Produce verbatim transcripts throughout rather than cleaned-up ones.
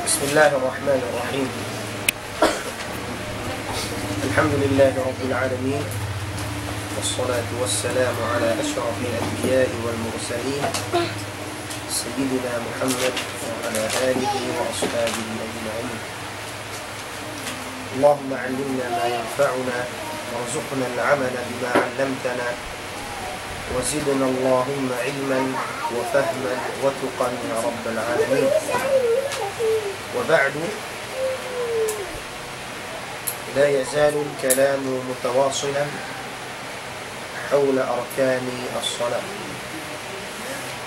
بسم الله الرحمن الرحيم. الحمد لله رب العالمين، والصلاة والسلام على أشرف الأنبياء والمرسلين، سيدنا محمد وعلى آله وأصحابه أجمعين. اللهم علمنا ما ينفعنا، وارزقنا العمل بما علمتنا، وزدنا اللهم علما وفهما وتقى يا رب العالمين. وبعد، لا يزال الكلام متواصلا حول أركان الصلاة.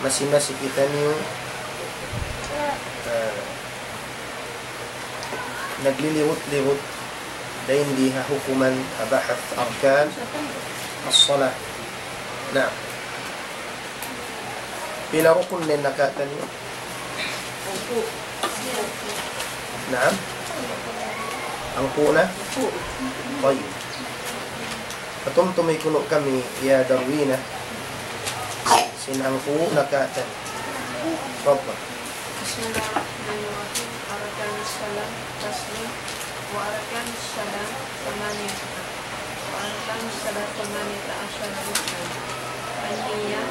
Masi-masi kitaniyu, ah, nagliliwut-liwut dayn di ha hukuman ha bahath arkan as-salah. Na, pila rukun na in nakatan niyu? Naam? Hangpu' na? Tayyib. Patumtumi kunu' kami, ya Darwina, sin hangpu' nakatan. Tafaddal. بسم الله الرحمن الرحيم. أركان الصلاة فصل. وأركان الصلاة ثمانية. وأركان الصلاة ثمانية عشر ركنا. النية،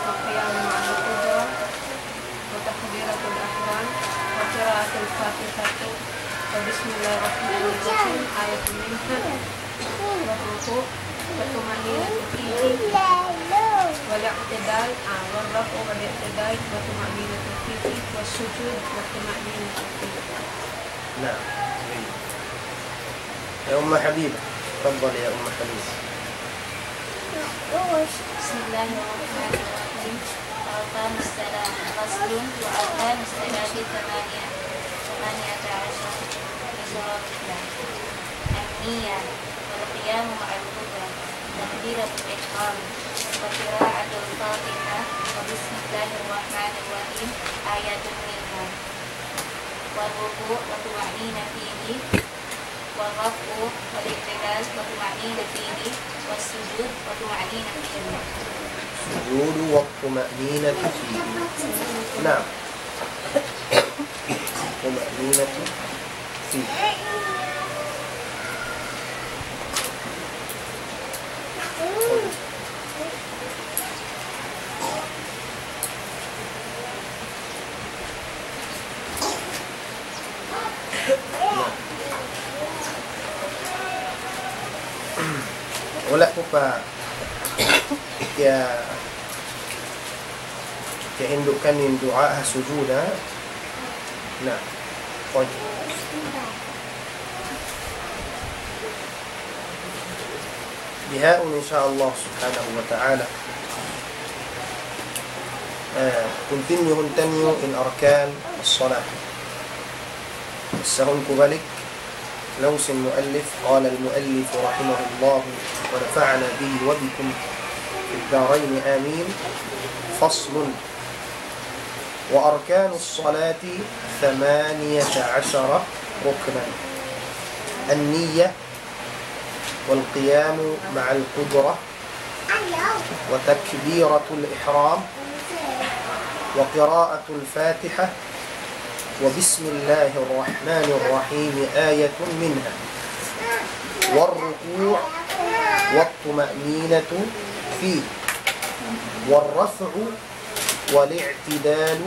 والقيام مع القدرة، وتكبيرة الإحرام، وقراءة الفاتحة، وبسم الله الرحمن الرحيم، آية منها، والركوع، والطمأنينة فيه، والاعتدال، آه، والرفع والاعتدال، والطمأنينة فيه، والسجود، والطمأنينة فيه. نعم. يا أم حبيبة، تفضلي يا أم حبيبة. بسم الله الرحمن الرحيم. أركان الصلاة فصل. وأركان الصلاة ثمانية، ثمانية عشر، عشر ركنا. النية، والقيام مع القدرة، تكبيرة الإحرام، وقراءة الفاتحة، وبسم الله الرحمن الرحيم، آية منها، والركوع والطمأنينة فيه، والرفع والاعتدال والطمأنينة فيه، والسجود والطمأنينة فيه. السجود والطمأنينة فيه. نعم. الطمأنينة فيه. Wala' ku pa kiya-, kiyahindukan in duwaa ha sujud, ha? Na. Tayyib. Bihaun, in sha Allah subhanahu wa ta'ala, eh, continue-hun taniyu in arkan as-salah. Sahun ku balik, laung sin muallif, قال المؤلف رحمه الله ونفعنا به وبكم في الدارين آمين. فصل. وأركان الصلاة ثمانية عشر ركنا. النية، والقيام مع القدرة، وتكبيرة الإحرام، وقراءة الفاتحة، وبسم الله الرحمن الرحيم آية منها، والركوع، والطمأنينة فيه، والرفع، والاعتدال،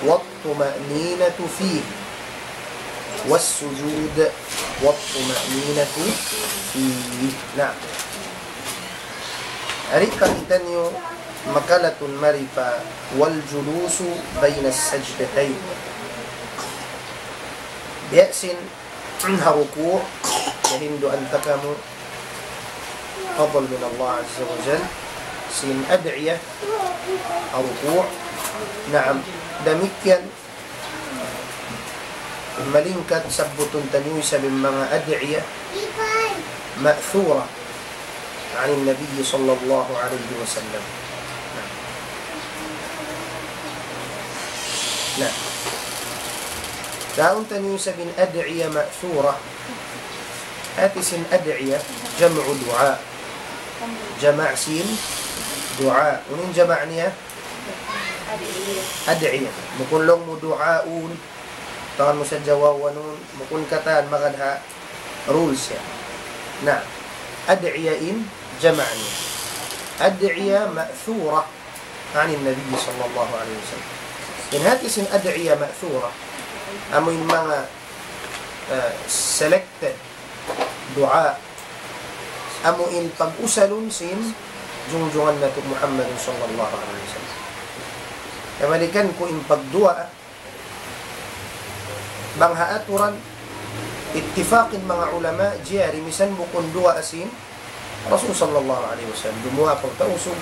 والطمأنينة فيه، والسجود، والطمأنينة فيه. Naam. Ari pa kitaniyu makalatun mari pa والجلوس بين السجدتين. Biya' sin ha ruku', kahinduan ta kamu, fadl min Allah azza wa jal, sin ad'iya ha ruku'. Naam, damikkiyan malingkat sabbutun taniyu isab in manga ad'iya ma'thura عن النبي صلى الله عليه وسلم. Na. Na. Daun taniyu isab in ad'iya ma'thura. Hati sin ad'iya, jam'u du'a. Jama' sin du'a. Unu in jama' niya? Ad'iya. Bukun laung mu du'aun. Tangan mu sadja waw, unu, bukun katan magad ha rules yan. Na, ad'iya in jama' niya. Ad'iya ma'thura 'anin Nabi sallallahu alayhi wasallam. In hati sin ad'iya ma'thura, amu in manga, eh, selected duwaa, amu in pag-usalun sin junjungan natu' Muhammadun sallallahu alayhi wasallam. Kabalikan ku in pagduwaa, bang ha aturan, ittifaq in manga ulama, jari misan bukun duwaa sin Rasul sallallahu alayhi wasallam. Dumuwaa kaw Tausug,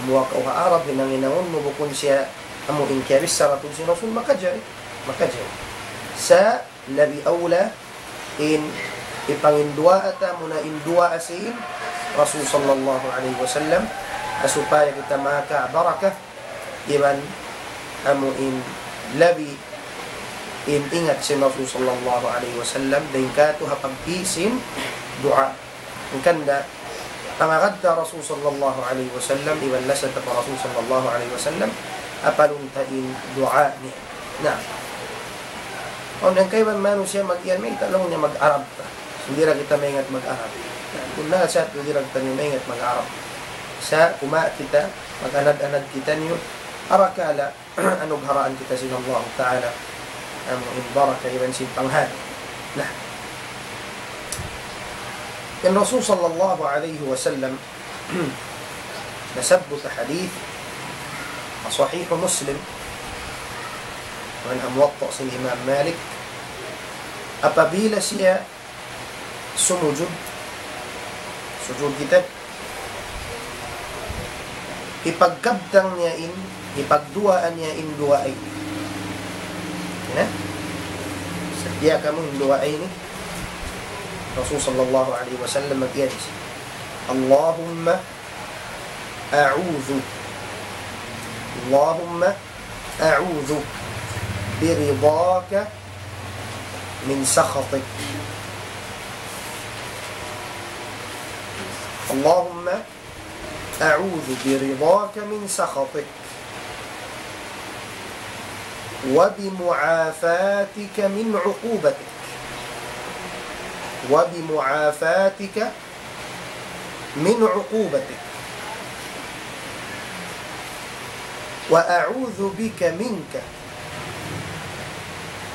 dumuwaa kaw ha Arab, hinang-hinangun mu bukun siya amu in kiyabichara tuud sin Rasul, makajari, makajari. Sa' labi awla in hipanginduwaa ta muna in duwaa sin Rasul sallallahu alayhi wasallam, ha supaya kita makabarakat, iban amu in labi in ingat sin Rasul sallallahu alayhi wasallam, dayn katu' ha pagpi sin duwaa. Hangkan da, pangagad ta Rasul sallallahu alayhi wasallam, iban lasa ta pa Rasul sallallahu alayhi wasallam, apalun ta in duwaa niya. Na. Awn hangkaiban manusiya' mag-iyan, mayta' laung niya mag-Arab ta. Di' da kita maingat mag-Arab. Na, kunu' sa di' da kita maingat mag-Arab. Sa' kumawa' kita, mag-anad-anad kitaniyu, arakala' anugharaan kita sin Allah Ta'ala, amu in baraka iban sin panghati. Na. In Rasul sallallahu alayhi wasallam, nasabbut ha hadith, ha Sahih Muslim, iban ha Muwatta' sin Imam Malik, apabila siya sumujud, sujud kita, hipagkabtang niya in, hipagduwaa niya in duwaa ini. Na? Sa' diyaak kamu in duwaa ini. Rasul sallallahu alayhi wasallam mag-iyan siya, اللهم أعوذ، اللهم أعوذ برضاك من سخطك. اللهم أعوذ برضاك من سخطك، وبمعافاتك من عقوبتك، وبمعافاتك من عقوبتك، وأعوذ بك منك،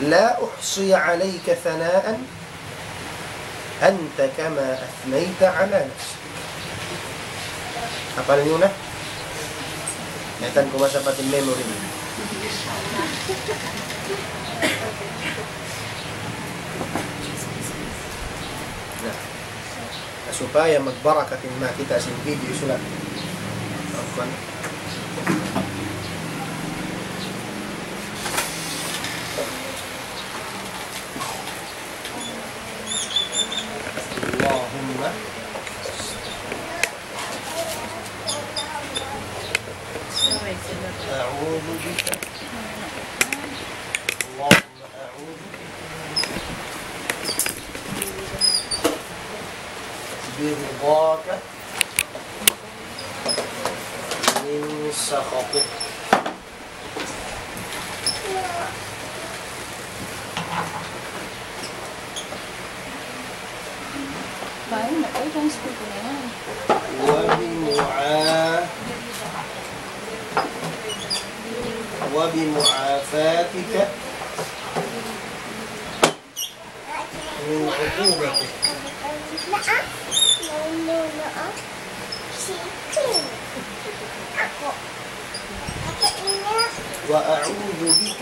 لا أحصي عليك ثناء أنت كما أثنيت على نفسك. Hapal niyu na? Mayta' ku masapat in memory niyu. Na. Supaya magbarakat in makita' sin video sulat. Afwan. اللهم أعوذ بك. اللهم أعوذ برضاك من سخطك. Baik, nak tahu kan school tu memang. وبمعا-، وبمعافاتك من عقوبتك. وأعوذ بك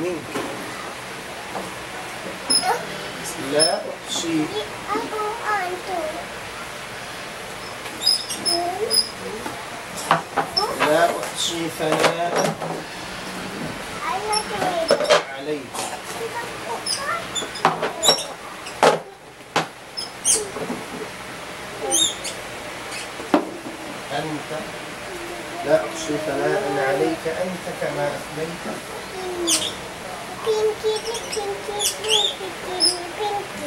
منك. لا أحصي، لا أحصي ثناء عليك. أنت، لا أحصي ثناء عليك أنت كما أثنيت،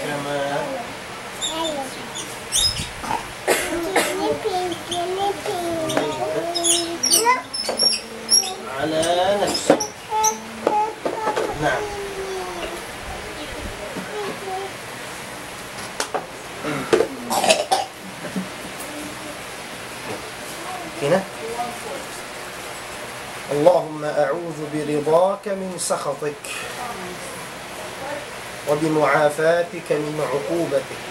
كما أثنيت على نفسك. Naam. Kina? اللهم أعوذ برضاك من سخطك وبمعافاتك من عقوبتك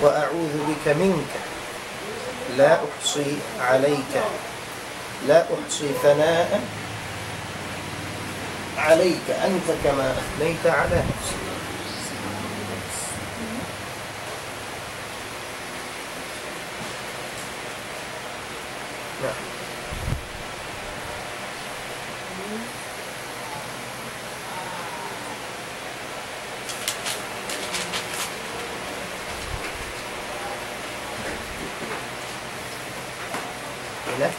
وأعوذ بك منك لا أحصي عليك لا أحصي ثناء عليك أنت كما أثنيت على نفسك. نعم. Ina?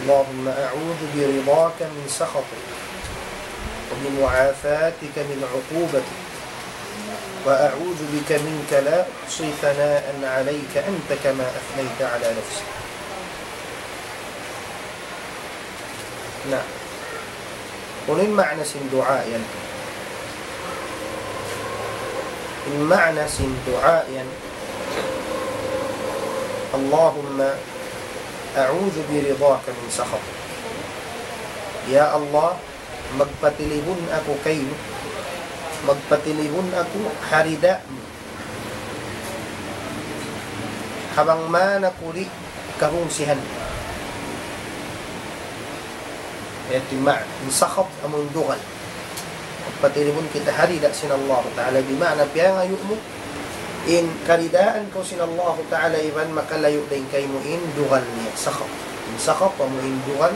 اللهم أعوذ برضاك من سخطك وبمعافاتك من عقوبتك وأعوذ بك منك لا أحصي ثناء عليك أنت كما أثنيت على نفسك. Na, unu in maana sin duwaa yan? In maana sin duwaa yan, اللهم أعوذ برضاك من سخطك. Ya Allah, magpatilibun aku kaymu, magpatilibun aku ha rida mu. Ha bang man aku di' kahungsihan. Yadtu in maana. In sakhat amu in dugal. Magpatilibun kita ha rida sin Allah Ta'ala, di' maana piyangayu' mu in karidaan kaw sin Allah Ta'ala iban makalayu' dayn kaymu in dugal niya, sakhat. In sakhat amu in dugal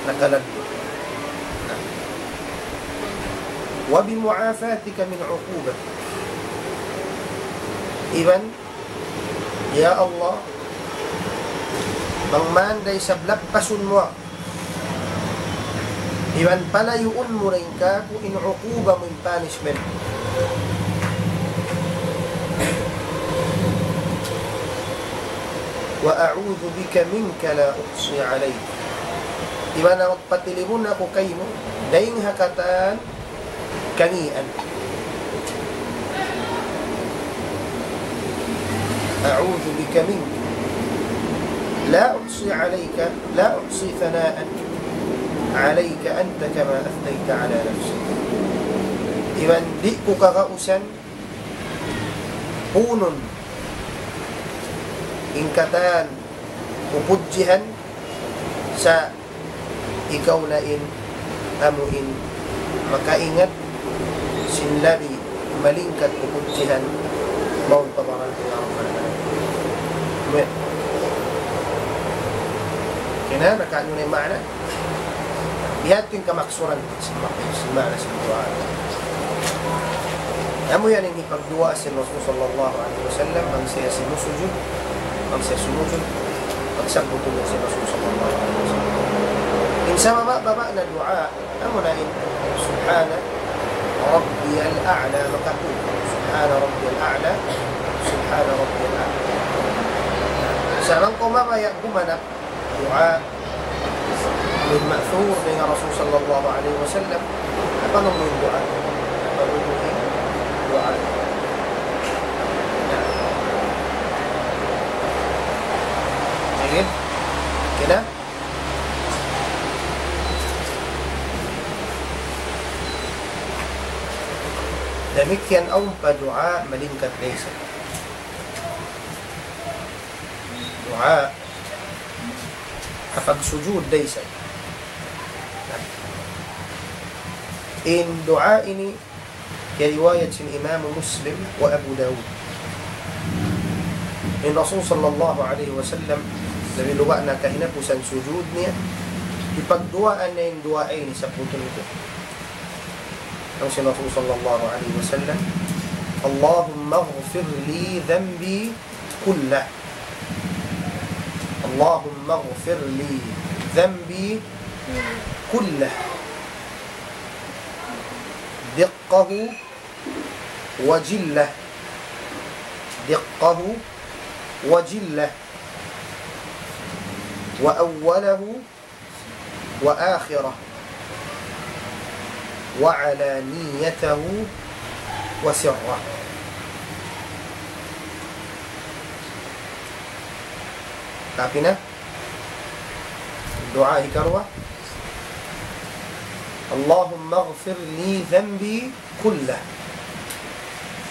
nakaladdu. وبمعافاتك من عقوبتك. Iban, ya Allah, bang man da isab lappasun mu aku, iban palayuun mu dayn kāku' in uquba mu, in punishment. وأعوذ بك منك لا أحصي عليك. Iban magpatilibun aku kaymu, dayn ha katan kangīan. أعوذ بك منك لا أحصي عليك، لا أحصي ثناء عليك أنت كما أثنيت على نفسك. Iban di' ku kagausan punun in katan pupudjihan sa' ikaw na in amu in makaingat sin labi malingkat pupudjihan mawn pa baran ku, ya Rabbal Alamin. Amin. Kina, nakaanu na in maana? Biya' ha yan in kamaksuran sin ma-, sin maana sin duwaa. Amu yan in hipagduwaa sin Rasul sallallahu alayhi wasallam, bang siya simusujud, bang siya sumujud, pagsabbutun niya sin Rasul sallallahu alayhi wasallam. In sa mababa'-baba' na duwaa, amu na in سبحان ربي الأعلى, makaku. سبحان ربي الأعلى, سبحان ربي الأعلى. Sa' bang kaw mabaya' gumanap duwaa, amu in ma'thur dayn ha Rasul sallallahu alayhi wasallam, apa na amu in duwaa? Apa na amu in duwaa? Sige. Kina? Damikkiyan awn pa duwaa malingkat da isab. Duwaa ha pagsujud da isab. In duwaa ini kiyariwayat sin Imam Muslim wa Abu Dawud. In Rasul sallallahu alayhi wasallam, labi luba' na kahinapusan sujud niya, hipagduwaa niya in duwaa ini sabbutun niya. Laung sin Rasul sallallahu alayhi wasallam, اللهم اغفر لي ذنبي كله. اللهم اغفر لي ذنبي كله. دقه وجلة، دقه وجلة، وأوله وآخره، وعلانيته وسره. Tapi na? Duwaa hikaruwa. اللهم اغفر لي ذنبي كله.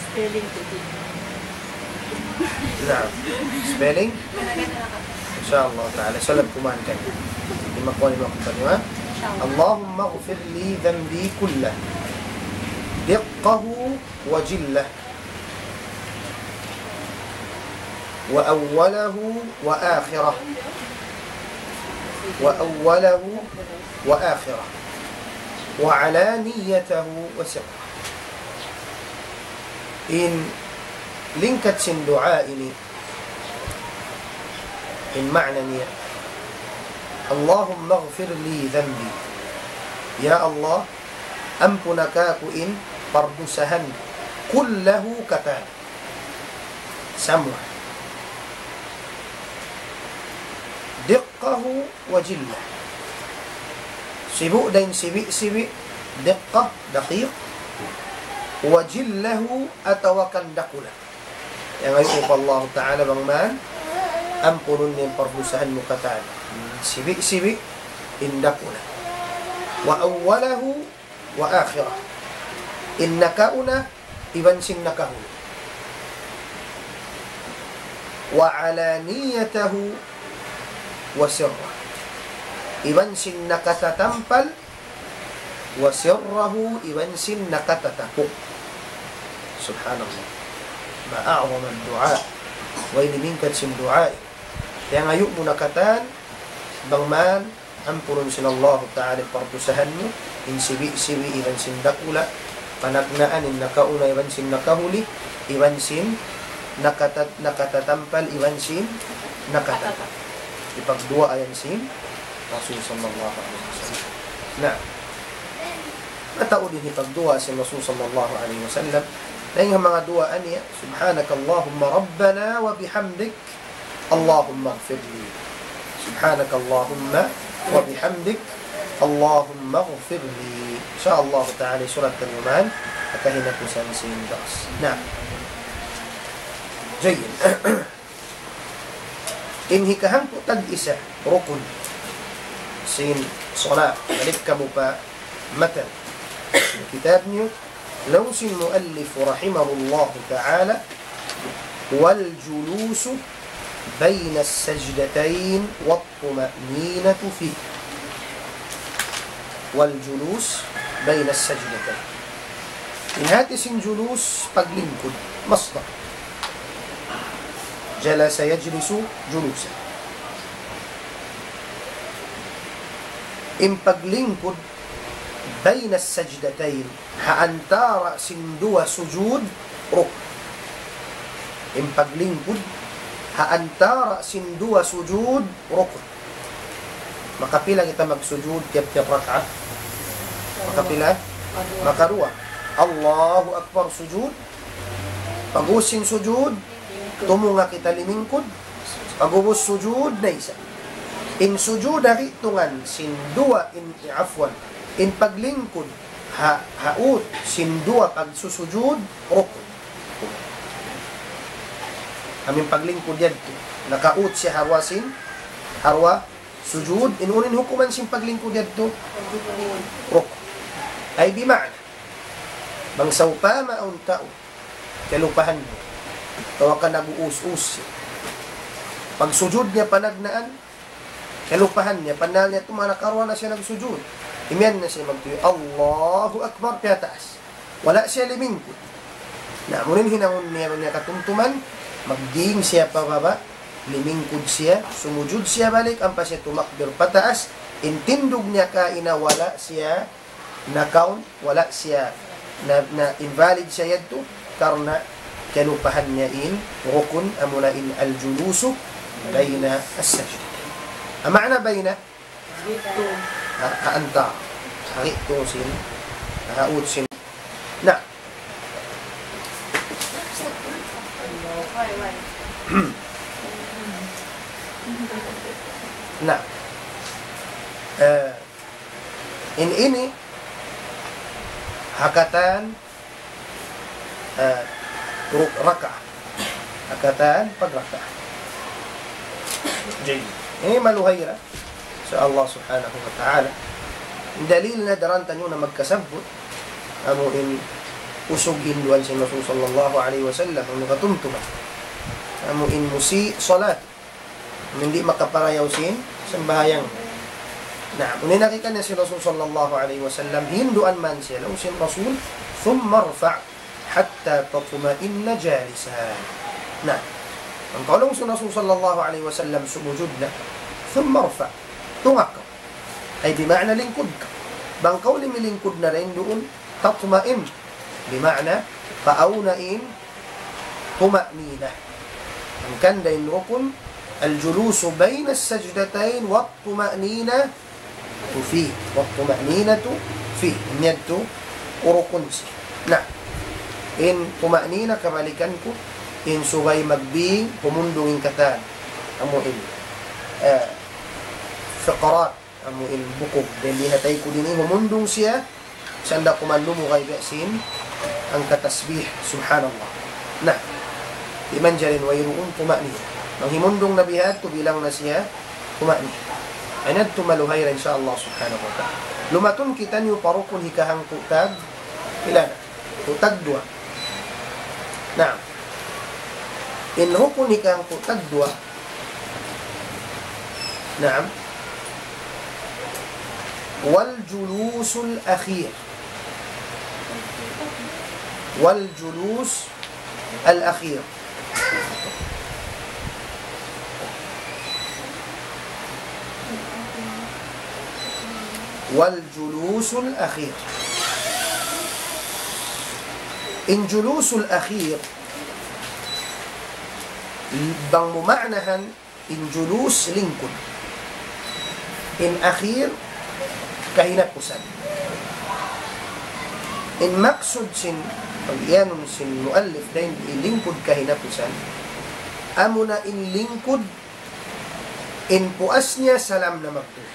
Spelling tadi. Naam. Spelling? إن شاء الله تعالى. Salam kuman kan. Lima kuan lima kuan, ha? إن شاء الله. اللهم اغفر لي ذنبي كله، دقه وجله، وأوله وآخره، وأوله وآخره، وعلانيته وسره. In lingkat sin duwaa ini, in maana niya, اللهم اغفر لي ذنبي. Ya Allah, ampuna kāku' in pardusahan, كله katan. Samua. دقه وجله. Sibu' dayn sibi'-sibi', دقة, دقيق. وجله, atawa kan dakula'. Iyangayu' mu pa Allah Ta'ala bang man ampunun niya in pardusahan mu katan. Sibi'-sibi', in dakula'. وأوله وآخره. In nakauna, iban sin nakahuli. وعلانيته وسره. Iban sin nakatatampal, وسره, iban sin nakatatapuk. Subhanallah. ما أعظم الدعاء. Way limingkat sin duwaa. Iyangayu' mu na katan, bang man ampunun sin Allahu Ta'ala in pardusahan mu, in sibi'-sibi' iban sin dakula', panagnaan in nakauna iban sin nakahuli, iban sin nakatat-, nakatatampal iban sin nakatatapuk. Hipagduwaa yan sin Rasul sallallahu alayhi wasallam. Na, mataud in hipagduwaa sin Rasul sallallahu alayhi wasallam. Dayn ha manga duwaa niya, سبحانك اللهم ربنا وبحمدك اللهم اغفر لي. سبحانك اللهم وبحمدك اللهم اغفر لي. إن شاء الله تعالى, surat taniyu man, ha kahinapusan sin dars. Na. Jayyid. In hikahangpu' tag-isa, rukun sin salat. Balik kamu pa matan kitab niyu, laung sin muallif rahimahullahu ta'ala, والجلوس بين السجدتين والطمأنينة فيه. والجلوس بين السجدتين. In hati sin julus, paglingkud, masdar. جلس يجلس جلوسا. In paglingkud, بين السجدتين, ha antara' sin duwa sujud, rukun. In paglingkud, ha antara' sin duwa sujud, rukun. Makapila kita magsujud tiyap-tiyap rakaat? Makapila? Makaruwa. Allahu Akbar, sujud. Pag'ubus sin sujud, tumunga' kita limingkud. Pag'ubus sujud, na isab. In sujud ha gi'tungan sin duwa in, afwan, in paglingkud ha, ha ut sin duwa pagsusujud, rukun. Amu in paglingkud yadtu, nakaut siya ha duwa sin, ha duwa sujud, in unu in hukuman sin paglingkud yadtu? Rukun. Ay, bima'na, bang sawpama awn tau, kalupahan niya, atawa ka nag-uus-us siya, pagsujud niya panagnaan, kalupahan niya, pannal niya tuud makaruwa na siya nagsujud. Imiyan na siya magtuy, Allahu Akbar, piyataas. Wala' siya limingkud. Na, amu in hinangun niya, niya katumtuman, magding siya pababa', limingkud siya, sumujud siya balik, ampa siya tumakbir pataas, in tindug niya kaina wala' siya na-count, wala' siya na, na-invalid siya yadtu, karna' kalupahan niya in rukun, amuna in الجلوس بين السجدتين. Amu na بين, ha, ha antara', ha gi'tu sin, ha ut sin. Na, In ini, ha katan, ah, ru-, rakaat. Ha katan pagrakaat. Jayyid. Ini maluhay ra. Insya Allah subhanahu wa ta'ala. In dalil na daran taniyu na magkasabbut, amu in usug hinduan sin Rasul sallallahu alayhi wasallam, amu katumtuman. Amu in musi salat. Amu in di' makaparayaw sin sambahayang. Na, unu in nakita niya sin Rasul sallallahu alayhi wasallam, hinduan man siya, laung sin Rasul, ثم ارفع حتى تطمئن جالسا. Na, bang kaw laung sin Rasul sallallahu alayhi wasallam sumujud na, ثم ارفع, tunga' kaw. Ay, bima'na lingkud kaw. Bang kaw limilingkud na dayn duun, تطمئن, bima'na, paawn na in tuma'nina. Hangkan da in rukun, الجلوس بين السجدتين والطمأنينة فيه. والطمأنينة فيه. Ini yadtu rukun siya. Na, in tuma'nina kabalikan ku, in subay magbing, humundung in katan. Amu in, eh, fiqrat. Amu in bukug. Dayn di ha taykud ini, humundung siya, sanda kumandu mu kay biya' sin hangka tasbih, subhanallah. Na, di' manjari in wayruun tuma'nina. Bang himundung na biya' hādtu, bilang na siya tuma'nina. Ay, na yadtu maluhay ra, insya Allah subhanahu wa ta'ala. Lumatun kitaniyu pa rukun hikahangpu' tag, pila na? Hangpu' tag duwa. Na, in rukun hikahangpu' tag duwa, نعم. والجلوس الأخير. والجلوس الأخير. والجلوس الأخير. In julusul akhir, bang mu ma'nahan, in julus lingkud. In akhir kahinapusan. In maksud sin, pag-iyanun sin muallif dayn di lingkud kahinapusan, amuna in lingkud in puas niya salam na magtuy.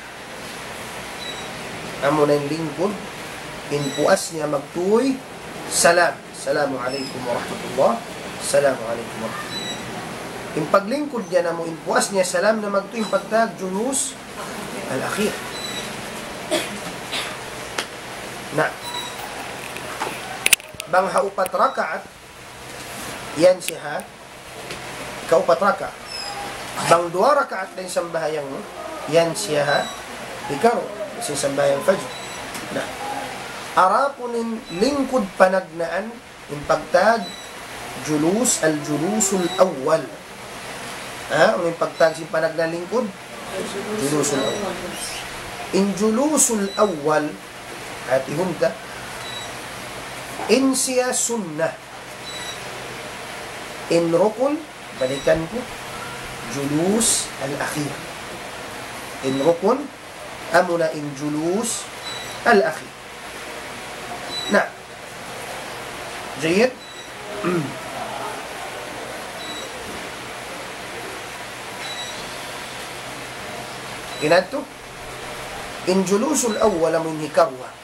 Amuna in lingkud, in puas niya magtuy, salam. Assalamu alaykum warahmatullah. Assalamu alaykum warahmatullah. In paglingkud niya namu' in puas niya salam na magtuy, in pagtawag julus al-akhir. Na, bang ha upat rakaat, yan siya ha kaupat rakaat. Bang duwa rakaat da in sambahayang mu, yan siya ha hikaruwa sin sambahayang fajr. Na, adapun in lingkud panagnaan, in pagtawag julus, al-julusul awwal. Ha? Unu in pagtawag sin panagnaan lingkud? Julusul awwal. In julusul awwal, hātihun ta, in siya sunnah. In rukun, balikan ku, julus al-akhir. In rukun, amuna in julus al-akhir. Na, jayyid. Kinatu, in julusul awwal amu in hikaruwa.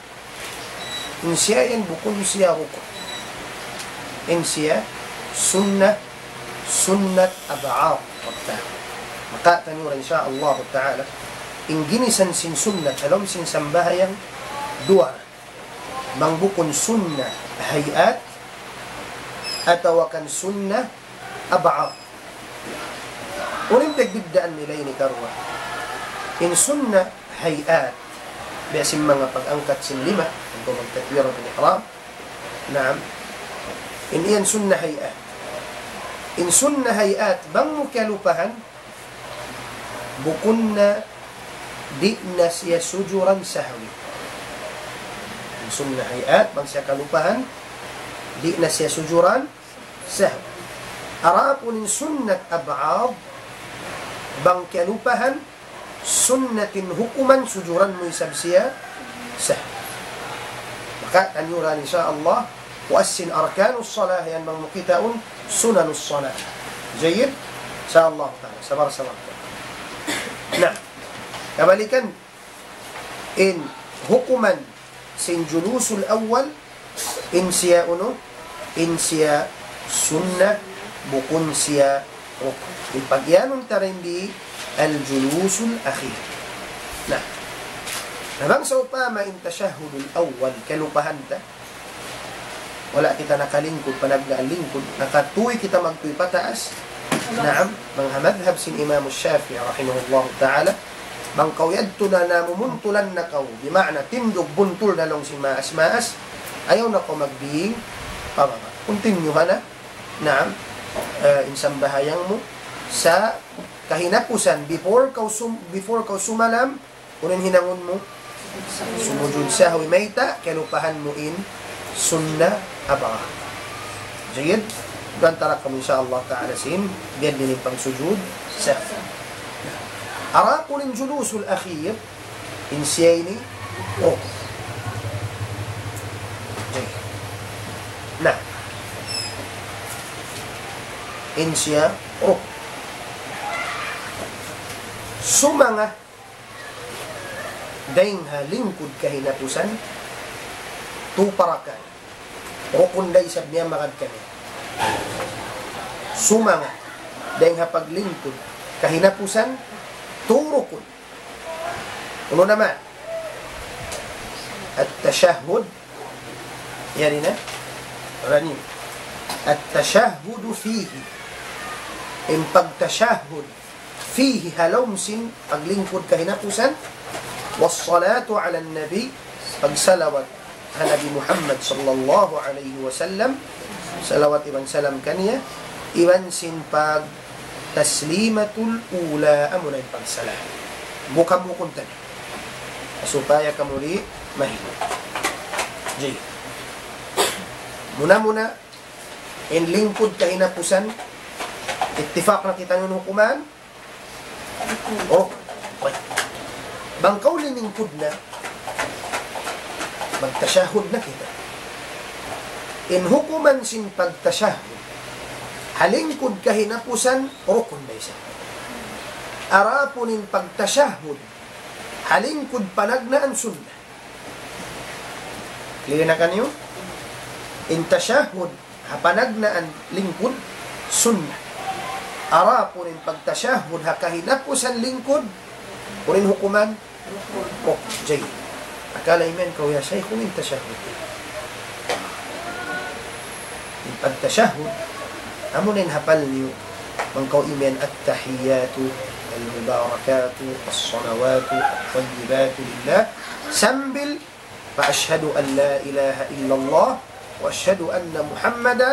In siya yan bukun siya rukun. In siya sunnah, sunnat ab'ad. Maka taniyu ra, insya Allah ta'ala, in ginisan sin sunnat ha lawm sin sambahayang duwa. Bang bukun sunnah hay'at, atawa kan sunnah ab'ad. Unu in pagbiddaan nila ini karuwa? In sunnah hay'at, biya' sin manga pag-angkat sin lima, atawa magtakbiratul ihram. Naam. In yan sunnah hay'at. In sunnah hay'at, bang mu kiyalupahan, bukun na di' na siya sujuran sahwi. In sunnah hay'at, bang siya kalupahan, di' na siya sujuran sahwi. Adapun in sunnat ab'ad, bang kiyalupahan, sunnat in hukuman sujuran mu isab siya sahwi. Maka taniyu ra, insya Allah, puas sin arkanus salah yan bang mu kitaun sunanus salah. Jayyid? Insya Allah ta'ala. Sabar-sabar. Na, kabalikan, in hukuman sin julusul awwal, in siya unu, in siya sunnah, bukun siya rukun. In pag-iyanun ta dayn di al-julusul akhir. Na, na bang sawpama in tashahhudul awwal, kalupahan ta, wala' kita nakalingkud, panagnaan lingkud, nakatuy kita magtuy pataas. Naam, bang ha madhab sin Imam Shafi'i rahimahullahu ta'ala, bang kaw yadtu na namumuntulan na kaw, bima'na tindug buntul na laung sin maas-maas, ayaw na kaw magbing pababa'. Continue ha na, naam, eh, in sambahayang mu sa kahinapusan, before kaw sum-, before kaw sumalam, unu in hinangun mu? Sumujud sahwi. Mayta'? Kalupahan mu in sunnah abaga. Jayyid? Duun ta ra kamu, insya Allah ta'ala, sin biya' diin in pagsujud sahwi. Adapun in julusul akhir, in siya ini, oh. Jayyid. Na. In siya, oh. Sumanga dayn ha lingkud kahinapusan, tu parakan. Rukun da isab niya magad kaniya. Sumanga dayn ha paglingkud kahinapusan, tu rukun. Unu na man? At-tashahhud. Yan na. Rani. At-tashahhudu fihi. In pagtashahhud fihi, ha lawm sin paglingkud kahinapusan, was-salatu ala nabi, pagsalawat ha Nabi Muhammad sallallahu alayhi wasallam, salawat iban salam kaniya, iban sin pag-taslimatul ula, amuna in pagsalam. Buka-bukun tani. Supaya kamu di' mahinang. Jayyid. Muna-muna, in lingkud kahinapusan, ittifaq na kita in hukuman, oh, wait. Bang kaw limingkud na, magtashahhud na kita. In hukuman sin pagtashahhud ha lingkud kahinapusan, rukun da isab. Adapun in pagtashahhud ha lingkud panagnaan, sunnah. Clear na kaniyu? In tashahhud ha panagnaan lingkud, sunnah. Adapun in pagtashahhud ha kahinapusan lingkud, unu in hukuman? Rukun. Jayyid. Akala imiyan kaw, ya Shaykh, unu in tashahhud? In pagtashahhud, amuna in hapal niyu, bang kaw imiyan, التحيات المباركات الصلوات الطيبات لله, sambil pa أشهد أن لا إله إلا الله وأشهد أن محمدا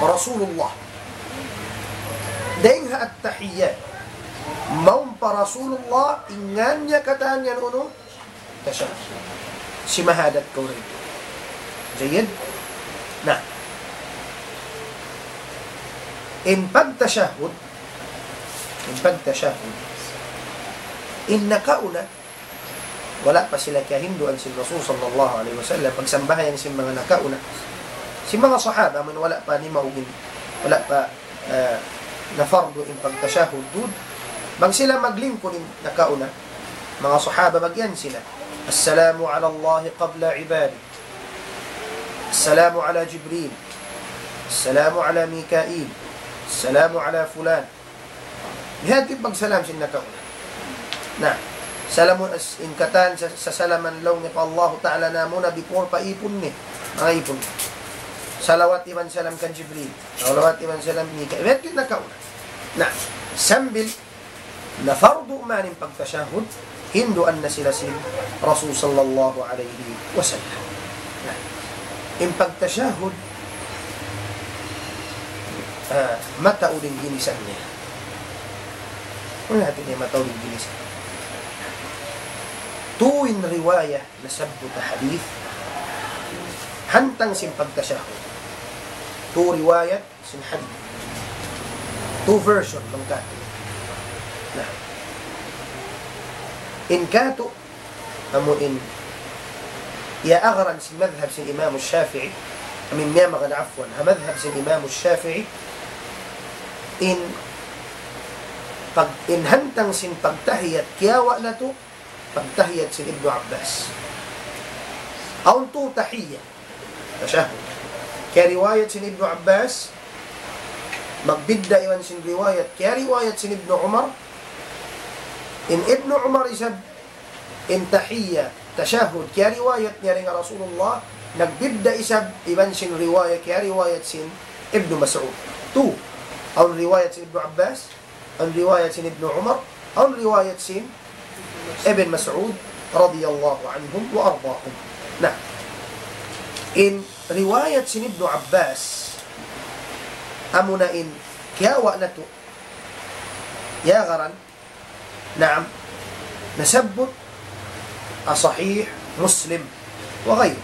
رسول الله. Dayn ha at-tahiyyat, mawn pa Rasulullah, in ngan niya katan yan unu? Tashahhud. Simahadat kaw rin. Jayyid? Na. In pagtashahhud, in pagtashahhud, in nakauna, wala' pa sila kiyahinduan sin Rasul sallallahu alayhi wasallam, pagsambahayang sin manga nakauna. Sin manga sahaba, amun wala' pa nimaugin, wala' pa, eh, nafardu in pagtashahhud duun. Bang sila maglingkud in nakauna, manga sahaba, magiyan sila, السلام على الله قبل عباده. السلام على جبريل. السلام على ميكائيل. السلام على فلان. Biya' ha yan in pagsalam sin nakauna. Na, salamun as-, in katan sa, sasalaman laung niya pa Allahu Ta'ala namuna before pa ipun niya. Manga ipun niya. Salawat iban salam kan Jibril. Salawat iban salam Mikail. Biya' ha yan in nakauna. Na, sambil na fardu man in pagtashahhud, hinduan na sila sin Rasul sallallahu alayhi wasallam. Na, in pagtashahhud, ah, mataud in ginisan niya. Unu in hati niya mataud in ginisan? Tū in riwayat nasabbut ha hadith hantang sin pagtashahhud. Tū riwayat sin hadith. Tū version bang katu'. Na, in katu', amu in iyaagaran sin madhab sin Imam Shafi'i, amu in miyamagad, afwan, ha madhab sin Imam Shafi'i, in pag-, in hantang sin pagtahiyat kiyawa' natu', pagtahiyat sin Ibnu Abbas. Awn tū tahiyya. Tashahhud. Kiyariwayat sin Ibnu Abbas, magbidda' iban sin riwayat. Kiyariwayat sin Ibnu Umar. In Ibnu Umar isab, in tahiyya, tashahhud, kiyariwayat niya dayn ha Rasulullah, nagbidda' isab iban sin riwayat, kiyariwayat sin Ibnu Mas'ud. Tū. Awn riwayat sin Ibnu Abbas, awn riwayat sin Ibnu Umar, awn riwayat sin Ibn Mas'ud radiyallahu anhum wa ardahum. Na, in riwayat sin Ibnu Abbas, amuna in kiyawa' natu', ya garan, naam, nasabbut ha Sahih Muslim wa ghayr.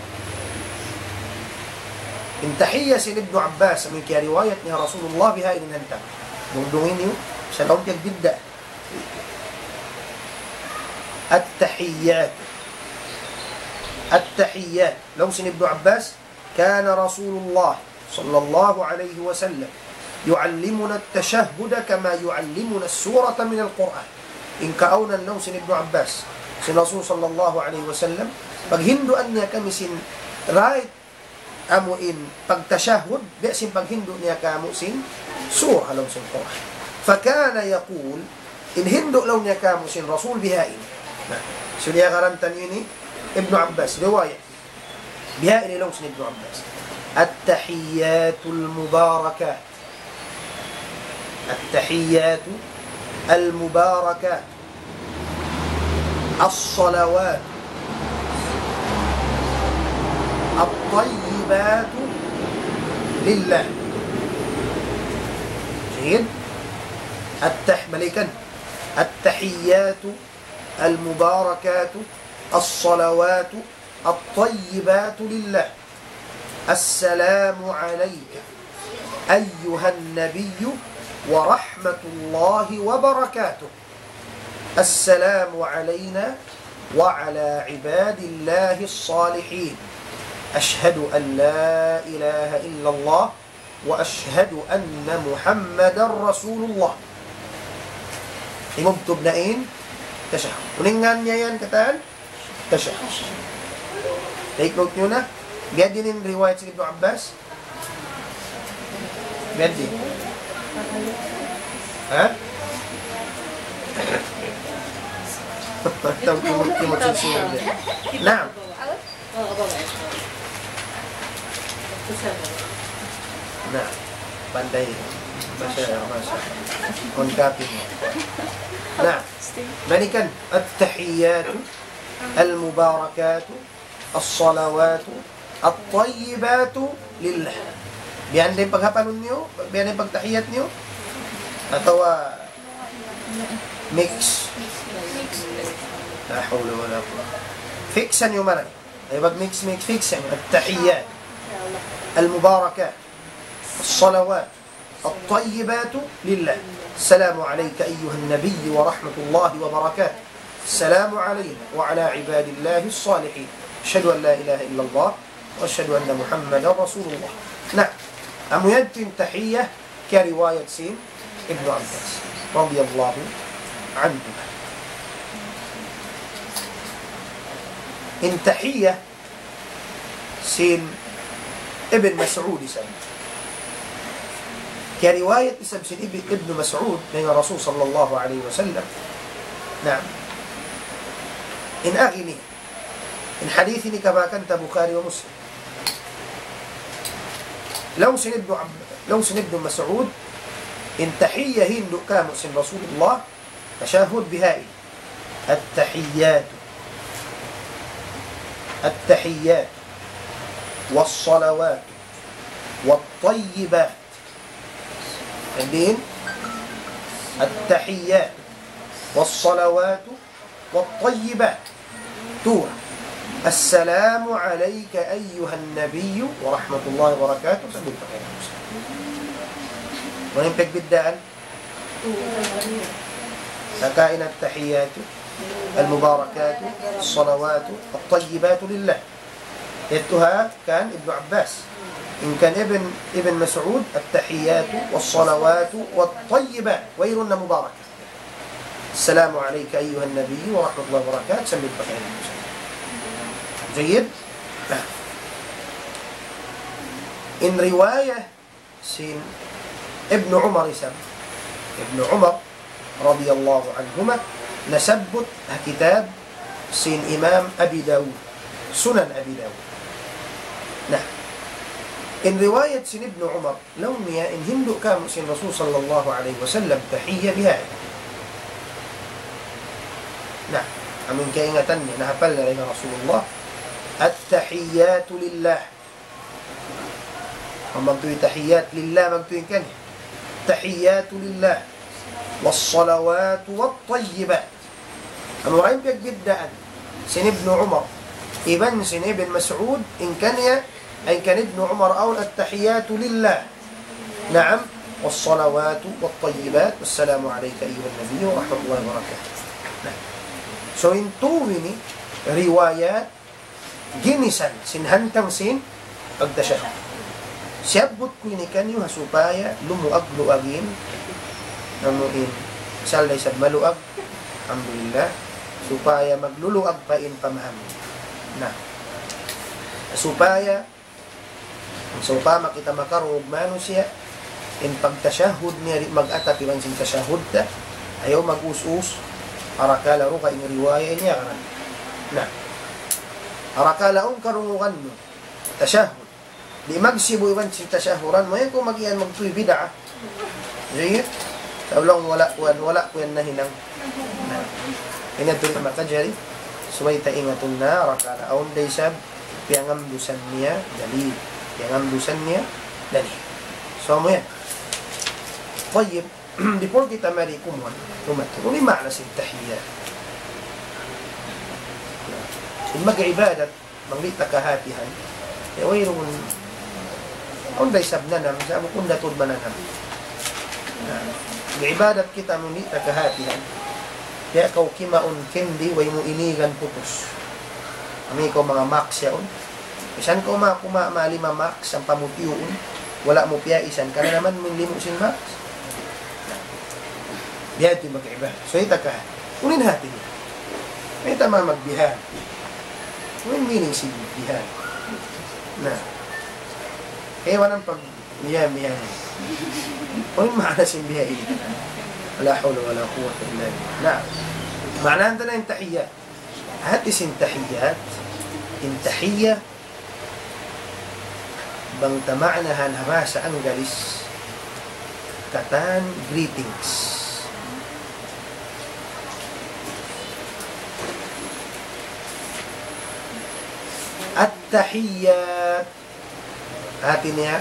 In tahiyya sin Ibnu Abbas, amun kiyariwayat niya Rasulullah biha ini nanta. Dungdungi niyu, sa' laung piyagbidda'. التحيات. التحيات. Laung sin Ibnu Abbas, كان رسول الله صلى الله عليه وسلم يعلمنا التشهد كما يعلمنا السورة من القرآن. In kaawnan laung sin Ibnu Abbas, sin Rasul sallallahu alayhi wasallam, paghinduan niya kami sin right, amu in pagtashahhud, biya' sin paghindu' niya kāmu' sin surah ha lawm sin Qur'an. فكان يقول, in hindu' laung niya kāmu' sin Rasul bihaini. Na, suniya garantan ini Ibnu Abbas, riwayat. Bihaini laung sin Ibnu Abbas. التحيات المباركات. التحيات المباركات. الصلوات الطيبات لله. Jayyid. التح-، balikan. التحيات المباركات الصلوات الطيبات لله. السلام عليك أيها النبي ورحمة الله وبركاته. السلام علينا وعلى عباد الله الصالحين. أشهد أن لا إله إلا الله وأشهد أن محمدا رسول الله. Imubtub na in tashahhud. Unu in ngan niya yan katan? Tashahhud. Take note niyu na. Biya' diin in riwayat sin Ibnu Abbas? Biya' diin? Ha? Taw kimut-kimut sin sila. Naam. Na, pandai. Masha Allah, masha Allah. On copy mo. Na, balikan. التحيات المباركات الصلوات الطيبات لله. Biya' diin in paghapalun niyu, biya' diin in pagtahiyat niyu. Atawa mix. لا حول ولا قوة. Fix niyu mari. Ay, pag mix, mix, fix yan. التحيات المباركات الصلوات الطيبات لله. السلام عليك أيها النبي ورحمة الله وبركاته. السلام علينا وعلى عباد الله الصالحين. أشهد أن لا إله إلا الله وأشهد أن محمدا رسول الله. Na, amu yadtu in tahiyya kiyariwayat sin Ibnu Abbas radiyallahu anhu. In tahiyya sin Ibn Mas'ud isab. Kiyariwayat isab sin Ibn, Ibn Mas'ud dayn ha Rasul sallallahu alayhi wasallam. Naam. In agi ini, in hadith ini kabakan ta Bukhari wa Muslim. Laung sin Ibn Ab-, laung sin Ibn Mas'ud, in tahiyya hindu' kāmu' sin Rasulullah, tashahhud bihaini. التحيات، التحيات، والصلوات، والطيبات. Diin? التحيات، والصلوات، والطيبات. Tū. السلام عليك أيها النبي ورحمة الله وبركاته. Sabbut pa kaymu. Unu in pagbiddaan? Saka in التحيات المباركات الصلوات الطيبات لله. Yadtu ha kan Ibnu Abbas. In kan Ibn, Ibn Mas'ud, التحيات والصلوات والطيبات. Wayruun na mubarak. السلام عليك أيها النبي ورحمة الله وبركاته, sambil pakain. Jayyid? Nah. In riwayat sin Ibnu Umar isab. Ibnu Umar radiyallahu anhuma, nasabbut ha kitab sin Imam Abi Dawud, Sunan Abi Dawud. Nah, in riwayat sin Ibnu Umar, laung niya in hindu' kāmu' sin Rasul sallallahu alayhi wasallam tahiyya bihaini. Nah, amun kaingatan niya, nahapal na in Rasulullah, التحيات لله. Amun magtuy tahiyat lillah, magtuy kaniya. التحيات لله والصلوات الطيبات. Amu in piyagbiddaan sin Ibnu Umar iban sin Ibn Mas'ud, in kaniya, in kan Ibnu Umar awn التحيات لله. Naam, والصلوات الطيبات، السلام عليك أيها النبي ورحمة الله وبركاته. Nah. So, in tū ini riwayat ginisan sin hantang sin pagtashahhud. Siyabbut ku ini kaniyu ha supaya lumuag-luag in, amu in, asal da isab maluag, alhamdulillah, supaya magluluag pa in pamaham. Nah, supaya, sawpama kita makarungug manusiya', in pagtashahhud niya di' mag-atap iban sin tashahhud ta, ayaw mag-us-us, arakala' dugaing riwaya ini akan. Nah, arakala' awn karungugan mu tashahhud, di' magsibu' iban sin tashahhuran mu, ayaw kaw mag-iyan magtuy bid'ah. Sige? Sa' laung wala' ku yan, wala' ku yan nahinang. Nah, ini tuud makajari. Subay ta ingatun na, arakala' awn da isab piyangamdusan niya dalil. Piyangamdusan niya dalil. So, amu yan. Tayyib, before kita mari kumuan, kumat, unu in maana sin tahiyat? In mag-ibadat, bang di' ta kahatihan, ya, wayruun, awn da isab nanam, sa' bukun da tuud mananam. Na, mag-ibadat kita, amun di' ta kahatihan, ya, kaw kimaun candy, way mu inigan putus. Amu kaw manga Max yaun. Misan kaw ma-, kuma-, ma lima Max, ampa mu tiyuun, wala' mu piyaisan, kananaman mu in limu sin Max. Biya' ha yan in mag-ibadat. So, ita ka, unu in hati niya? Mayta' magbihan? Unu in meaning sin bihan? Na. Kaya wanan pag bihan, bihan. Unu in maana sin bihan ini? La hawla wala quwwata illa billah. Na. Maana natu' na in tahiyat. Hati sin tahiyat, in tahiyat, bang ta maanahan ha bahasa Anggalis, katan greetings. At-tahiyyat, hati niya,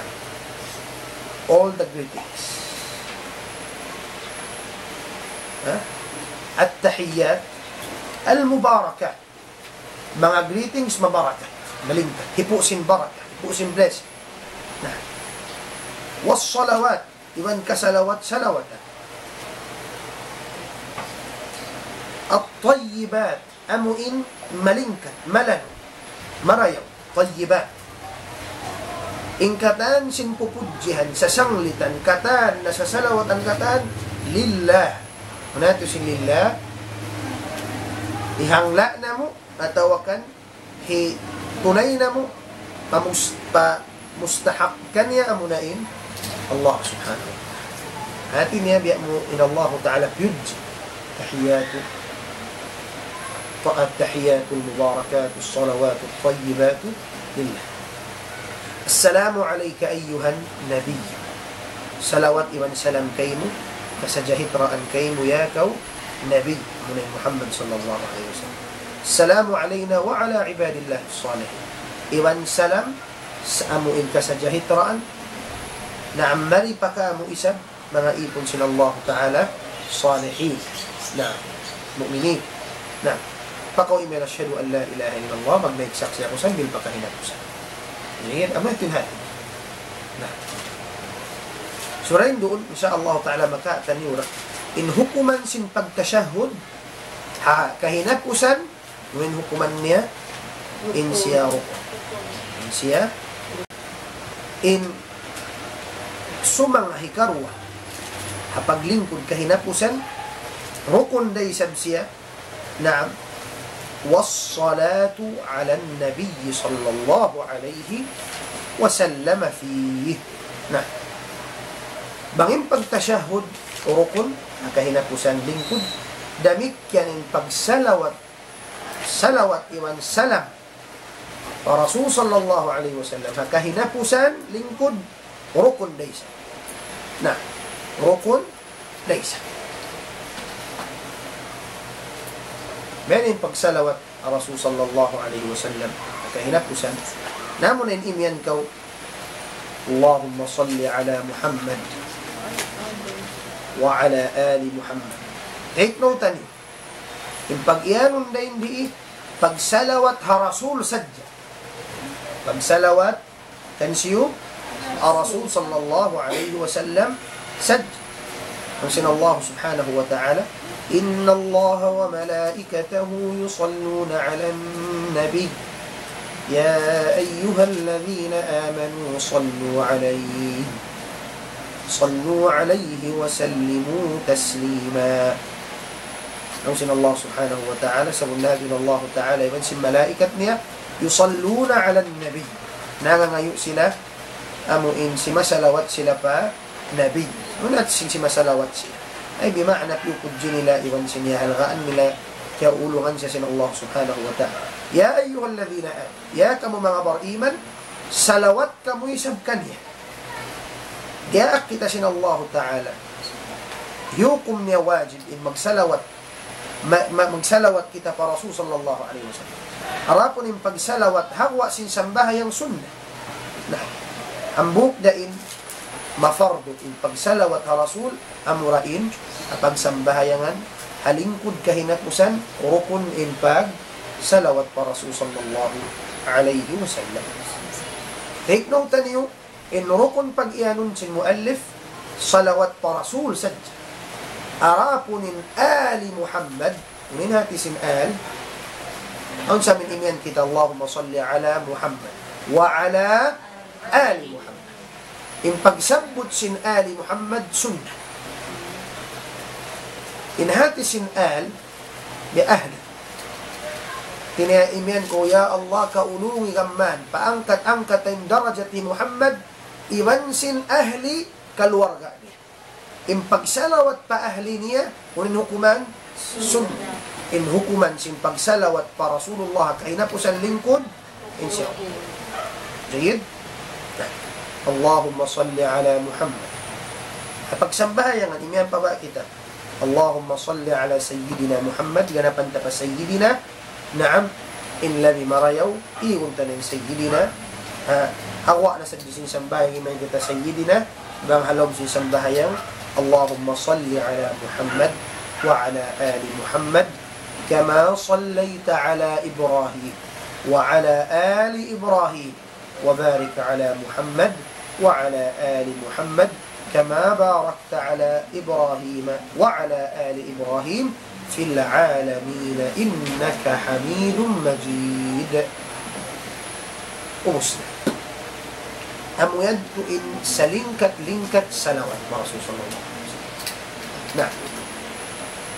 all the greetings. Ha? At-tahiyyat al-mubarakat. Manga greetings mabarakat. Malingkat. Hipu' sin barakat. Hipu' sin blessing. Na. Was-salawat. Iban kasalawat-salawatan. At-tayyibat. Amu in malingkat. Malanu. Marayaw. Tayyibat. In katan sin pupudjihan, sasanglitan, katan, nasasalawatan, katan, lillah. Unu tuud sin lillah? Hihangla' namu', atawa kan hitunay namu', pamus-, pa-, mustahak kaniya amuna in Allah Subhanahu wa Ta'ala. Hati niya biya' mu in Allah Ta'ala piyudji. Tahiyatu, ta-, tahiyatu al-mubarakatu as-salawatu at-tayyibatu lillah. Assalamu alayka ayyuhan nabiy. Salawat iban salam kaymu, kasajahitraan kaymu ya kaw Nabi, amuna in Muhammad sallallahu alayhi wasallam. Assalamu alayna wa ala ibadillah salihin. Iban salam, sa-, amu in kasajahitraan, na mari pa kamu isab, manga ipun sin Allah Ta'ala, salihin. Na, mu'minin. Na, pakaw imiyan ashhadu an la ilaha illallah, magnaik saksi' aku sambil pa kahinapusan. Yan, amu in hati. Na. Sura in duun, insya Allah Ta'ala, makataniyu ra in hukuman sin pagtashahhud, ha, kahinapusan, in hukuman niya, in siya ruku'. In siya, in sumanga hikaruwa, ha paglingkud kahinapusan, Rukun da isab siya. Naam. والصلاة على النبي صلى الله عليه وسلم فيه. Na, bang in pagtashahhud rukun, ha kahinapusan lingkud, damikkiyan in pagsalawat, salawat iban salam pa Rasul sallallahu alayhi wasallam, ha kahinapusan lingkud, rukun da isab. Na, rukun da isab. Biya' ini in pagsalawat pa Rasul sallallahu alayhi wasallam, ha kahinapusan. Na, amu na in imiyan kaw, اللهم صل على محمد وعلى آل محمد. Take note ani. In pag-iyanun dayn di, pagsalawat ha Rasul sadja. Pagsalawat kansiyu? Ha Rasul sallallahu alayhi wasallam sadja. Laung sin Allah subhanahu wa ta'ala, إن الله وملائكته يصلون على النبي يا أيها الذين آمنوا صلوا عليه صلوا عليه وسلموا تسليما. Laung sin Allah subhanahu wa ta'ala, sabunnal in Allah ta'ala iban sin malaikat niya, يصلون على النبي. Nangangayu' sila, amu in simasalawat sila pa Nabi. Unu in hati sin simasalawat sila? Ay, bima'na piyukud nila iban sin iyahalgaan nila, kiyaulungan siya sin Allah subhanahu wa ta'ala. يا أيها الذين آمنوا. Ya kamu manga bariman, salawat kamu isab kaniya. Diyaak kita sin Allahu Ta'ala. Hukum niya wajib in magsalawat, ma-, ma-, magsalawat kita pa Rasul sallallahu alayhi wasallam. Adapun in pagsalawat ha guwa' sin sambahayang sunnat. Na, hambuuk da in mafardu in pagsalawat ha Rasul, amura in ha pagsambahayangan ha lingkud kahinapusan, rukun in pagsalawat pa Rasul sallallahu alayhi wasallam. Take note niyu, in rukun pag-iyanun sin muallif, salawat pa Rasul sadja. Adapun in ali Muhammad, unu in hati sin al, awn sa amin imiyan kita, اللهم صل على محمد وعلى آل محمد. In pagsabbut sin ali Muhammad sunnat. In hati sin al, biya' ahli. Tiniya imiyan ku, ya Allah, kaulungi kamu man, paangkat-angkat in darajat hi Muhammad, iban sin ahli kaluarga niya. In pagsalawat pa ahli niya, unu in hukuman? Sunnat. In hukuman sin pagsalawat pa Rasulullah, kahinapusan lingkud, insya Allah. Jayyid? اللهم صل على محمد. Ha pagsambahayangan, imiyan pa ba kita? اللهم صل على سيدنا محمد, ganapan ta pa Sayyidina. Naam, in labi marayaw, igun ta na in Sayyidina. Ha, ha guwa' na sadja sin sambahayang imiyan kita Sayyidina, bang ha lawm sin sambahayang, اللهم صل على محمد وعلى آل محمد كما صليت على إبراهيم وعلى آل إبراهيم وبارك على محمد وعلى آل محمد كما باركت على إبراهيم وعلى آل إبراهيم في العالمين إنك حميد مجيد. Ubus na. Amu yadtu in salingkat-lingkat salawat pa Rasul sallallahu alayhi wasallam. Na.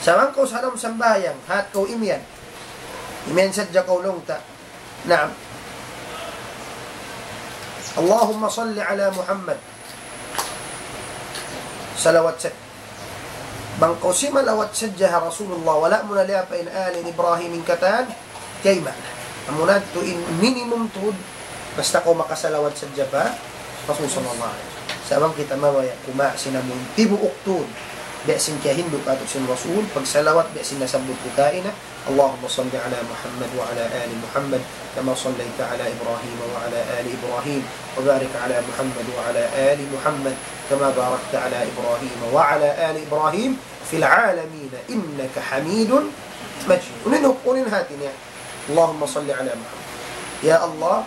Sa' bang kaw sa lawm sambahayang, hat kaw imiyan. Imiyan sadja kaw laung ta. Naam. اللهم صل على محمد. Salawat sadja. Bang kaw simalawat sadja ha Rasulullah, wala' mu na liyapa in ali Ibrahim in katan, kayma. Amuna yadtu in minimum tuud, basta kaw makasalawat sadja pa Rasul sallallahu alayhi wasallam. Sa' bang kita mabaya' kumawa' sin amu in tibuuk tuud, biya' sin kiyahindu' katu' sin Rasul, pagsalawat biya' sin nasabbut ku kaina, اللهم صل على محمد وعلى آل محمد كما صليت على إبراهيم وعلى آل إبراهيم وبارك على محمد وعلى آل محمد كما باركت على إبراهيم وعلى آل إبراهيم في العالمين إنك حميد مجيد. Unu in, unu in hati niya? اللهم صل على محمد. Ya Allah,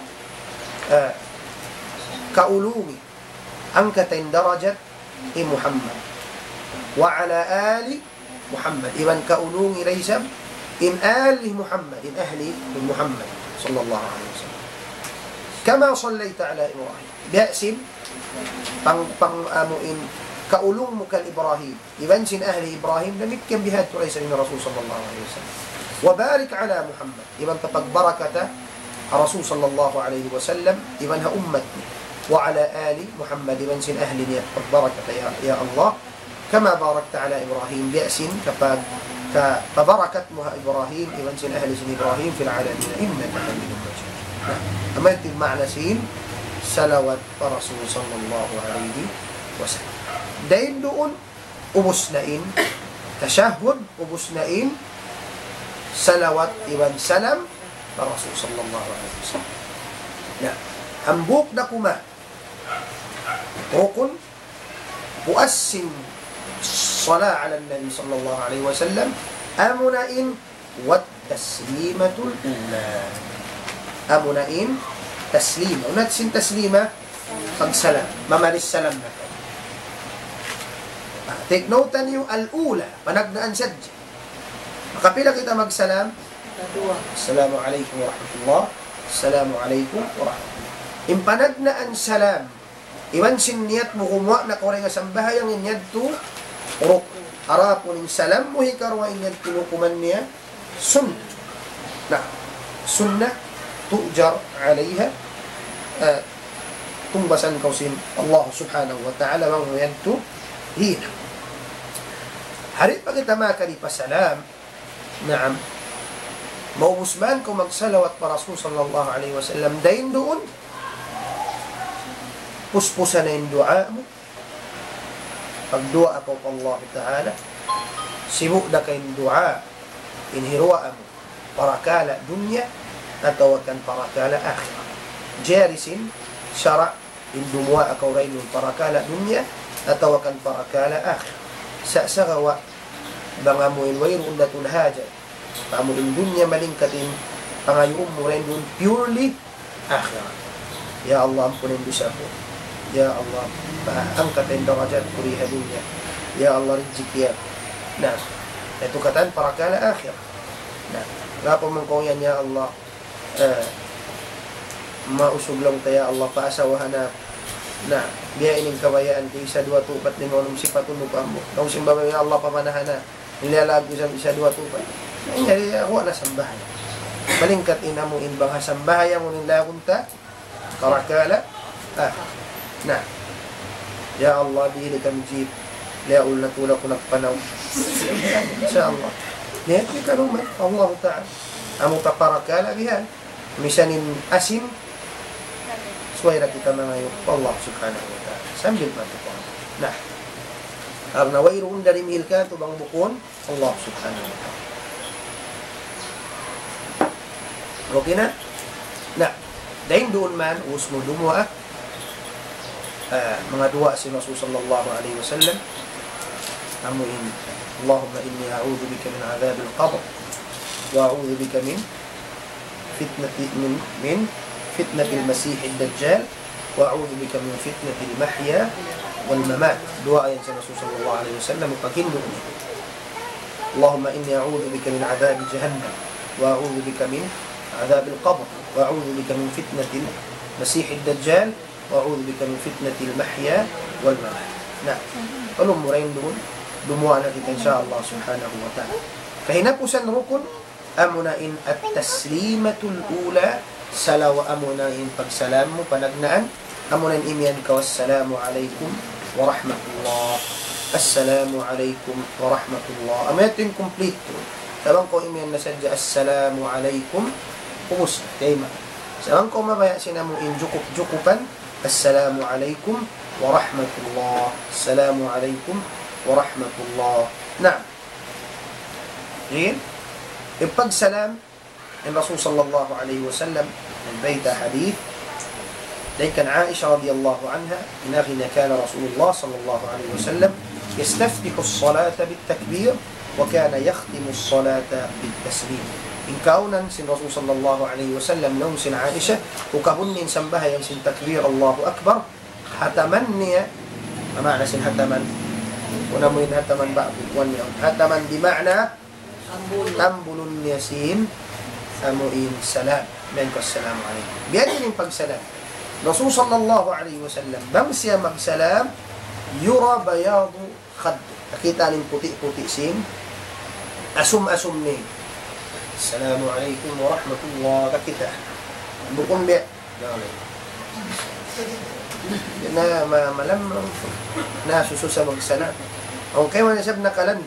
ah, kaulungi, angkata in darajat hi Muhammad. وعلى آل محمد. Iban kaulungi da isab in ali Muhammad, in ahli Muhammad sallallahu alayhi wasallam. كما صليت على إبراهيم. Biya' sin pang, pang, amu in, kaulung mu kan Ibrahim, iban sin ahli Ibrahim, damikkiyan bihadtu da isab in Rasul sallallahu alayhi wasallam. وبارك على محمد, iban pagbarakata Rasul sallallahu alayhi wasallam, iban ha ummat niya. وعلى آل محمد, iban sin ahli niya, pagbarakata ya, ya Allah. كما باركت على إبراهيم, biya' sin kapag-, ka-, pabarakat mu ha Ibrahim, iban sin ahli sin Ibrahim, في العالمين إنك حميد مجيد. Na, amu yadtu in ma'na sin salawat pa Rasul sallallahu alayhi wasallam. Dayn duun, ubus na in tashahhud, ubus na in salawat iban salam pa Rasul sallallahu alayhi wasallam. Na, hambuuk da kuman rukun, puas sin salat ala Nabi sallallahu alayhi wasallam, amuna in والتسليمة الأولى. Amuna in taslima. Unu in taslima? Pagsalam. Mamaris salam na kaw. Ah, take note niyu, al-ula. Panagnaan sadja. Makapila kita magsalam? Duwa. Assalamu alaykum warahmatullah. Assalamu alaykum warahmatullah. In panagnaan salam, iban sin niyat mu gumuwa' na kaw dayn ha sambahayang, in yadtu rukun. Adapun in salam mu hikaruwa, in yadtu hukuman niya sunnat. Na, sunnat تؤجر عليها, eh, tungbasan kaw sin Allah subhanahu wa ta'ala bang mu yadtu hinang. Di' pa kita makadi pa salam, naam. Maubus man kaw magsalawat pa Rasul sallallahu alayhi wasallam, dayn duun, puspusa na in duwaa mu. Pagduwaa kaw pa Allah Ta'ala, sibu' da ka in duwaa, in hiruwaa mu, parakala' dunya, atawa kan parakala' akhirat. Jari sin sara' in dumuwaa kaw dayn duun parakala' dunya, atawa kan parakala' akhirat. Sa-, sagawa', bang amu in wayruun da tuud hajat, amu in dunya malingkat in pangayuun mu dayn duun purely akhirat. Ya Allah, ampuna in dusa ku. Ya Allah, angkata in darajat ku di ha dunya. Ya Allah, rijiki aku. Na, yadtu katan parakala' akhirat. Na, bang kaw yan, ya Allah, eh, mausug laung ta, ya Allah, paasawahan aku. Na, biya' ini in kabayaan ku, isa, duwa, tū, upat, lima, unum, sipat, unum, amu. Laung sin babai, ya Allah, pamanahan aku. Nilalaag ku sa isa, duwa, tū, upat. Na, in yari, aku na sambahayang. Malingkat in amu in bang ha sambahayang, unu in lagun ta, parakala', ah, na. Ya Allah, dihili kami jeep. Liyaul na tuud aku nagpanaw. Insya Allah. Niya, di' ka naman. Allah Ta'ala. Amu ta parakala' bihan. Misan in asin, subay da kita mangayu' pa Allah Subhanahu wa Ta'ala. Sambil matutuwa. Na, karna' wayruun da dimihil katu' bang bukun Allah Subhanahu wa Ta'ala. Okay na? Na, dayn duun man, ubus mu dumuwaa, ah, manga duwaa sin Rasul sallallahu alayhi wasallam, amu in, اللهم إني أعوذ بك من عذاب القبر، وأعوذ بك من فتنة، من، من فتنة المسيح الدجال، وأعوذ بك من فتنة المحيا والممات. Duwaa yan sin Rasul sallallahu alayhi wasallam, paghindu' niya. اللهم إني أعوذ بك من عذاب جهنم، وأعوذ بك من عذاب القبر، وأعوذ بك من فتنة المسيح الدجال، وأعوذ بك من فتنة المحيا والممات. Na, kalu mu dayn duun, dumuwaa na kita, insya Allah subhanahu wa ta'ala. Kahinapusan rukun, amuna in at-taslimatul ula, salaw-, amuna in pagsalam mu, panagnaan, amuna in imiyan kaw, "Assalamu alaykum wa rahmatullah. Assalamu alaykum wa rahmatullah." Amu yadtu in kumpletu. Sa' bang kaw imiyan na sadja, "Assalamu alaykum," ubus na, kayma. Sa' bang kaw mabaya' sin amu in jukup-jukupan, "Assalamu alaykum wa rahmatullah. Assalamu alaykum wa rahmatullah." Naam. Jin? In pagsalam, in Rasul sallallahu alayhi wasallam, nagbayta' hadith, dayn kan Aisha radiyallahu anha, in agi niya كان رسول الله صلى الله عليه وسلم يستفتح الصلاة بالتكبير وكان يختم الصلاة بالتسليم. In kaawnan sin Rasul sallallahu alayhi wasallam, laung sin Aisha, ukabun niya in sambahayang sin takbir, Allahu Akbar, hataman niya, in maana sin hataman, unu in hataman ba, kuwan niya, hataman bi maana tambulun niya sin, amu in salam. Amu in assalamu alaykum. Biya' diin in pagsalam. Rasul sallallahu alayhi wasallam, bang siya magsalam, يرى بياض خده. Kakita' in puti'-puti' sin asum-asum niya. السلام عليكم ورحمة الله. Kakita'. Bukun biya'. Na, ma-, malamang. Na, susu sa magsala. Awn kaymu isab nakalan.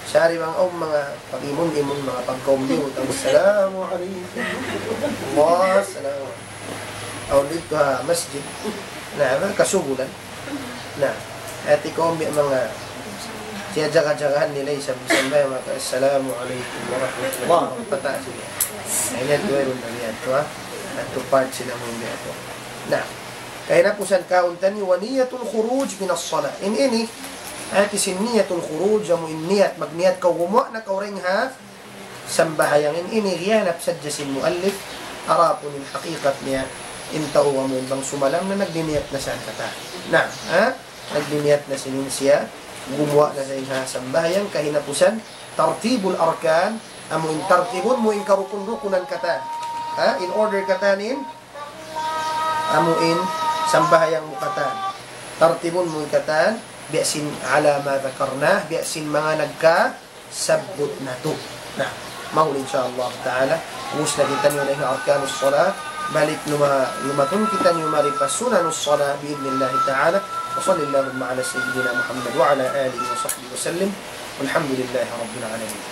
Sari bang awn manga pag-imun-imun, manga pagkaumbiut, "Assalamu alaykum." Wa salamu. Awn didtu ha masjid. Na, kasugulan. Na, hati kaumbi manga siya jaga-jagahan nila isab, isab na maka, "Assalamu alaykum warahmatullahi wabarakatuh." Pataas niya. Ay, niya tuwa yun na niya tuwa. At tu part sila mong niya tuwa. Na, kahinapusan kaun tani, ونية الخروج من الصلاة. In ini, hati sin niyatul khuruj, amu in niyat, magniyat kaw gumuwa' na kaw dayn ha sambahayang. In ini, giyanap sadja sin muallif, adapun in hakikat niya, in tau amu in bang sumalam na nagniniyat na sa katan. Na, ha? Nagniniyat na sin siya, gumuwa' na sa ha sambahayang, kahinapusan, tartibul arkan, amu in tartibun mu in karukun-rukunan katan. Ha? In order katan in, amu in sambahayang mu katan. Tartibun mu katan, biya' sin على ما ذكرنا, biya' sin manga nagkasabbut natu'. Na, mahuli insha Allah ta'ala, ubus na kitaniyu na in arkanus salat, balik luma-, lumatun kitaniyu mari pa sunanus salat bi'idhnillahi ta'ala. وصل اللهم على سيدنا محمد وعلى آله وصحبه وسلم. والحمد لله رب العالمين.